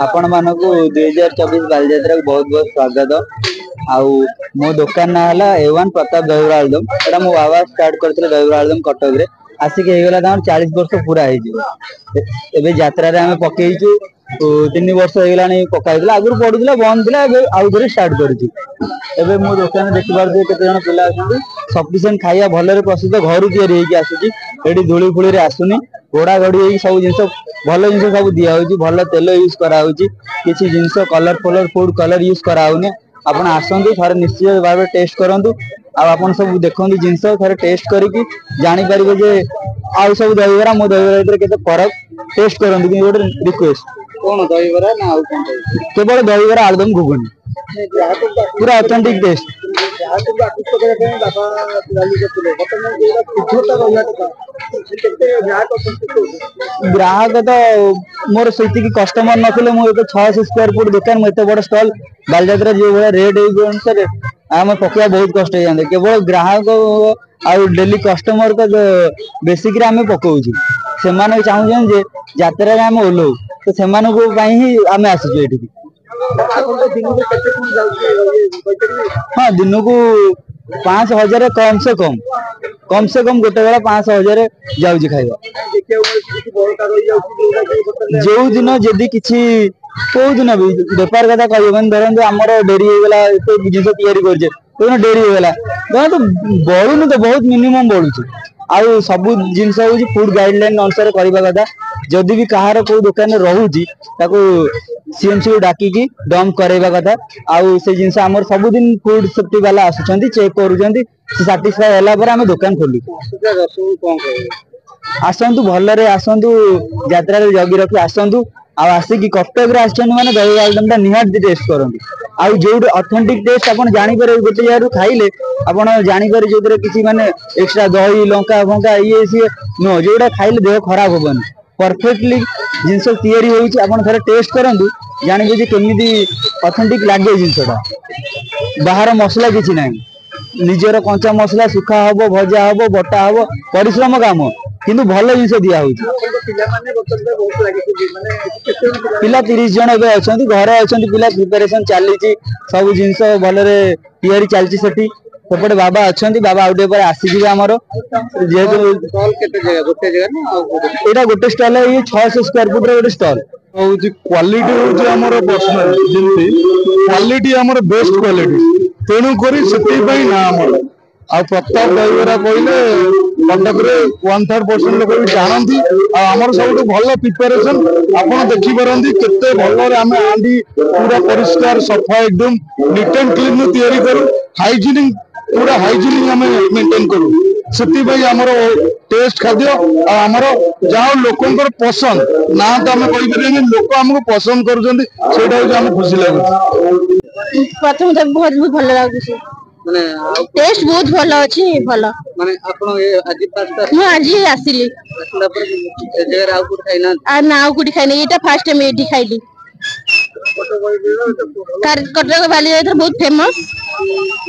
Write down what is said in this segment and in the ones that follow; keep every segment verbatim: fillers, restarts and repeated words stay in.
ଆପଣମାନଙ୍କୁ ଦୁଇ ହଜାର ଚବିଶ ବାଲିଯାତ୍ରାକୁ ବହୁତ ବହୁତ ସ୍ୱାଗତ। ଆଉ ମୋ ଦୋକାନ ନାଁ ହେଲା ଏ ୱାନ୍ ପ୍ରତାପ ଦହିବରା ଆଳୁଦମ। ଏଇଟା ମୋ ବାବା ଷ୍ଟାର୍ଟ କରିଥିଲେ ଦହିବରା ଆଳୁଦମ କଟକରେ। ଆସିକି ହେଇଗଲା ତାଙ୍କର ଚାଳିଶ ବର୍ଷ ପୁରା ହେଇଯିବ। ଏବେ ଯାତ୍ରାରେ ଆମେ ପକେଇଛୁ, ତିନି ବର୍ଷ ହେଇଗଲାଣି ପକା ହେଇଥିଲା। ଆଗରୁ ପଡୁଥିଲା, ବନ୍ଦ ଥିଲା, ଏବେ ଆଉ ଥରେ ଷ୍ଟାର୍ଟ କରିଛୁ। ଏବେ ମୋ ଦୋକାନରେ ଦେଖିପାରୁଥିବେ କେତେ ଜଣ ପିଲା ଅଛନ୍ତି। ସଫିସିଏଣ୍ଟ ଖାଇବା ଭଲରେ ପ୍ରସ୍ତୁତ, ଘରୁ ତିଆରି ହେଇକି ଆସୁଛି। ଏଠି ଧୂଳି ଫୁଳିରେ ଆସୁନି, ଘୋଡା ଘୋଡି ହେଇକି ସବୁ ଜିନିଷ ଭଲ ଜିନିଷ ସବୁ ଦିଆହଉଛି। ଭଲ ତେଲ ୟୁଜ କରାହଉଛି, କିଛି ଜିନିଷ କଲର ଫଲର ଫୁଡ କଲର ୟୁଜ କରାହଉନି। ଆପଣ ଆସନ୍ତୁ ଥରେ, ନିଶ୍ଚିତ ଭାବେ ଟେଷ୍ଟ କରନ୍ତୁ। ଆଉ ଆପଣ ସବୁ ଦେଖନ୍ତୁ ଜିନିଷ, ଥରେ ଟେଷ୍ଟ କରିକି ଜାଣିପାରିବେ ଯେ ଆଉ ସବୁ ଦହିବରା ମୋ ଦହିବରା ଭିତରେ କେତେ ଫରକ। ଟେଷ୍ଟ କରନ୍ତୁ, କିନ୍ତୁ ଗୋଟେ ରିକ୍ୱେଷ୍ଟ। କଣ ଦହିବରା ନା ଆଉ କଣ? କେବଳ ଦହିବରା, ଆଳୁଦମ, ଘୁଗୁନି, ପୁରା ଅଥେଣ୍ଟିକ ଟେଷ୍ଟ। ଗ୍ରାହକଙ୍କୁ ଆକୃଷ୍ଟ କରିବା ପାଇଁ ବାବା ଚାଲୁ କରିଥିଲେ, ବର୍ତ୍ତମାନ ଯୋଉଟା ଶୁଦ୍ଧତା ରହିବା କଥା, କେତେ ଗ୍ରାହକ ସନ୍ତୁଷ୍ଟ ହଉଛନ୍ତି? ଗ୍ରାହକ ତ ମୋର ସେତିକି କଷ୍ଟମର ନଥିଲେ ମୁଁ ଏବେ ଛଅଶହ ସ୍କୋୟାର ଫୁଟ ଦୋକାନ, ମୁଁ ଏତେ ବଡ ଷ୍ଟଲ ବାଲିଯାତ୍ରା ଯୋଉ ଭଳିଆ ରେଟ୍ ଏଇ ଅନୁସାରେ ଆମେ ପକେଇବା ବହୁତ କଷ୍ଟ ହେଇଯାନ୍ତା। କେବଳ ଗ୍ରାହକ ଆଉ ଡେଲି କଷ୍ଟମରଙ୍କ ବେସିକରେ ଆମେ ପକଉଛୁ। ସେମାନେ ଚାହୁଁଛନ୍ତି ଯେ ଯାତ୍ରାରେ ଆମେ ଓହ୍ଲଉ, ତ ସେମାନଙ୍କ ପାଇଁ ହିଁ ଆମେ ଆସିଛୁ ଏଠିକି। ଆପଣଙ୍କ ଦିନକୁ କେତେ କଣ ଯାଉଛି କହିପାରିବେ? ହଁ, ଦିନକୁ ପାଞ୍ଚ ହଜାର କମ ସେ କମ, କମ ସେ କମ ଗୋଟେ ବେଳା ପାଞ୍ଚ ହଜାର ଯାଉଛି ଖାଇବା। ଦେଖିବାକୁ ମିଳୁଛି କିଛି ବଳକା ରହିଯାଉଛି, ଯୋଉଟା କି ବର୍ତ୍ତମାନ ଯୋଉ ଦିନ ଯଦି କିଛି କୋଉ ଦିନ ବି ବେପାର କଥା କହିହବନି। ଧରନ୍ତୁ ଆମର ଡେରି ହେଇଗଲା, ଏତେ ଜିନିଷ ତିଆରି କରୁଛେ, କୋଉଦିନ ଡେରି ହେଇଗଲା ଧରନ୍ତୁ, ବଳୁନି ତ ବହୁତ ମିନିମମ୍ ବଳୁଛି। ଆଉ ସବୁ ଜିନିଷ ହଉଛି ଫୁଡ ଗାଇଡଲାଇନ ଅନୁସାରେ କରିବା କଥା। ଯଦି ବି କାହାର କୋଉ ଦୋକାନରେ ରହୁଛି, ତାକୁ ସିଏମସି କୁ ଡାକିକି ଡମ୍ପ କରେଇବା କଥା। ଆଉ ସେ ଜିନିଷ ଆମର ସବୁଦିନ ଫୁଡ ସେଫ୍ଟି ବାଲା ଆସୁଛନ୍ତି, ଚେକ୍ କରୁଛନ୍ତି। ସେ ସାଟିସ୍ଫାଏ ହେଲା ପରେ ଆମେ ଦୋକାନ ଖୋଲୁଛୁ। ଆସୁଥିବା ଦର୍ଶକଙ୍କୁ କଣ କହିବେ? ଆସନ୍ତୁ, ଭଲରେ ଆସନ୍ତୁ, ଯାତ୍ରାରେ ଜଗି ରଖି ଆସନ୍ତୁ। ଆଉ ଆସିକି କଟକରେ ଆସିଛନ୍ତି ମାନେ ଦହି ଆଳୁଦମ ଟା ନିହାତି ଟେଷ୍ଟ କରନ୍ତୁ। ଆଉ ଯୋଉଠି ଅଥେଣ୍ଟିକ ଟେଷ୍ଟ ଆପଣ ଜାଣିପାରିବେ, ଗୋଟେ ଜାଗାରୁ ଖାଇଲେ ଆପଣ ଜାଣିପାରିବେ, ଯୋଉଥିରେ କିଛି ମାନେ ଏକ୍ସଟ୍ରା ଦହି ଲଙ୍କା ଫଙ୍କା ଇଏ ସିଏ ନୁହଁ, ଯୋଉଟା ଖାଇଲେ ଦେହ ଖରାପ ହବନି, ପରଫେକ୍ଟଲି ଜିନିଷ ତିଆରି ହଉଛି। ଆପଣ ଥରେ ଟେଷ୍ଟ କରନ୍ତୁ, ଜାଣିବେ ଯେ କେମିତି ଅଥେଣ୍ଟିକ ଲାଗେ ଜିନିଷଟା। ବାହାର ମସଲା କିଛି ନାହିଁ, ନିଜର କଞ୍ଚା ମସଲା ଶୁଖା ହବ, ଭଜା ହବ, ବଟା ହବ, ପରିଶ୍ରମ କାମ, କିନ୍ତୁ ଭଲ ଜିନିଷ ଦିଆ ହଉଛି। ଆପଣଙ୍କ ପିଲାମାନେ ବର୍ତ୍ତମାନ ବହୁତ ଲାଗିଛନ୍ତି, ମାନେ କେତେ ଜଣ ପିଲା? ପିଲା ତିରିଶ ଜଣ ଏବେ ଅଛନ୍ତି, ଘରେ ଅଛନ୍ତି ପିଲା। ପ୍ରିପାରେସନ ଚାଲିଛି, ସବୁ ଜିନିଷ ଭଲରେ ତିଆରି ଚାଲିଛି ସେଠି। ସେପଟେ ବାବା ଅଛନ୍ତି, ବାବା ଆଉ ଟିକେ ପରେ ଆସିଯିବେ ଆମର ଯେହେତୁ। ଷ୍ଟଲ କେତେ ଜାଗା? ଗୋଟେ ଜାଗା ନା ଆଉ କୋଉଠି? ଏଇଟା ଗୋଟେ ଷ୍ଟଲ, ଏଇ ଛଅଶହ ସ୍କୋୟାର ଫୁଟ ର ଗୋଟେ ଷ୍ଟଲ। ହଉଛି କ୍ୱାଲିଟି ହଉଛି ଆମର ପର୍ସନାଲ, ଯେମିତି କ୍ୱାଲିଟି ଆମର ବେଷ୍ଟ କ୍ୱାଲିଟି, ତେଣୁ କରି ସେଥିପାଇଁ ନା ଆମର। ଆଉ ପ୍ରତାପ ଦହିବରା କହିଲେ କଟକରେ ୱାନ୍ ଥାର୍ଡ ପରସେଣ୍ଟ ଲୋକ ବି ଜାଣନ୍ତି। ଆଉ ଆମର ସବୁଠୁ ଭଲ ପ୍ରିପାରେସନ ଆପଣ ଦେଖିପାରନ୍ତି, କେତେ ଭଲରେ ଆମେ ହାଣ୍ଡି ପୁରା ପରିଷ୍କାର ସଫା ଏକଦମ ନିଟ୍ ଆଣ୍ଡ କ୍ଲିନ ତିଆରି କରୁ। ହାଇଜିନିକ, ପୁରା ହାଇଜିନିକ ଆମେ ମେଣ୍ଟେନ କରୁ। ସେଥିପାଇଁ ଆମର ଟେଷ୍ଟ ଖାଦ୍ୟ ଆଉ ଆମର ଯାହା ହଉ ଲୋକଙ୍କର ପସନ୍ଦ ନା ତ ଆମେ କହିପାରିବାନି, ଲୋକ ଆମକୁ ପସନ୍ଦ କରୁଛନ୍ତି, ସେଇଟା ହଉଛି ଆମକୁ ଖୁସି ଲାଗୁଛି। ପ୍ରଥମ ତ ବହୁତ ବହୁତ ଭଲ ଲାଗୁଛି। ମାନେ ଆଉ ଟେଷ୍ଟ ବହୁତ ଭଲ ଅଛି, ଭଲ। ମାନେ ଆପଣ ଏ ଆଜି ଫାଷ୍ଟ? ମୁଁ ଆଜି ଆସିଲି। ଆସିଲା ପରେ ଏ ଜାଗାରେ ଆଉ କୋଉଠି ଖାଇନାହାନ୍ତି? ଆଉ ନା, ଆଉ କୋଉଠି ଖାଇନି, ଏଇଟା ଫାଷ୍ଟ ଟାଇମ ଏଇଠି ଖାଇଲି। କଟକ ବାଲିଯାତ୍ରା ବହୁତ ଫେମସ।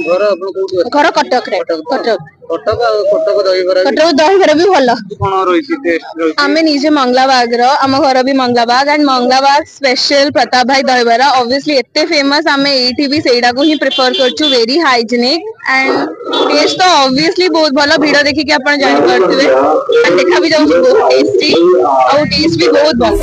ଘର ଆପଣ କୋଉଠି ଅଛି? ଘର କଟକରେ, କଟକ। କଟକ, ଆଉ କଟକ ଦହିବରା ବି? କଟକ ଦହିବରା ବି ଭଲ। କଣ ରହିଛି ଟେଷ୍ଟ ରହିଛି? ଆମେ ନିଜେ ମଙ୍ଗଳାବାଗର, ଆମ ଘର ବି ମଙ୍ଗଳାବାଗ। ଆଣ୍ଡ ମଙ୍ଗଳାବାଗ ସ୍ପେଶାଲ ପ୍ରତାପ ଭାଇ ଦହିବରା ଅବଭିୟସଲି ଏତେ ଫେମସ, ଆମେ ଏଇଠି ବି ସେଇଟାକୁ ହିଁ ପ୍ରିଫର କରୁଛୁ। ଭେରି ହାଇଜେନିକ ଆଣ୍ଡ ଟେଷ୍ଟ ତ ଅବଭିୟସଲି ବହୁତ ଭଲ। ଭିଡ ଦେଖିକି ଆପଣ ଜାଣିପାରୁଥିବେ, ଦେଖା ବି ଯାଉଛି ବହୁତ ଟେଷ୍ଟି ଆଉ ଟେଷ୍ଟ ବି ବହୁତ ଭଲ।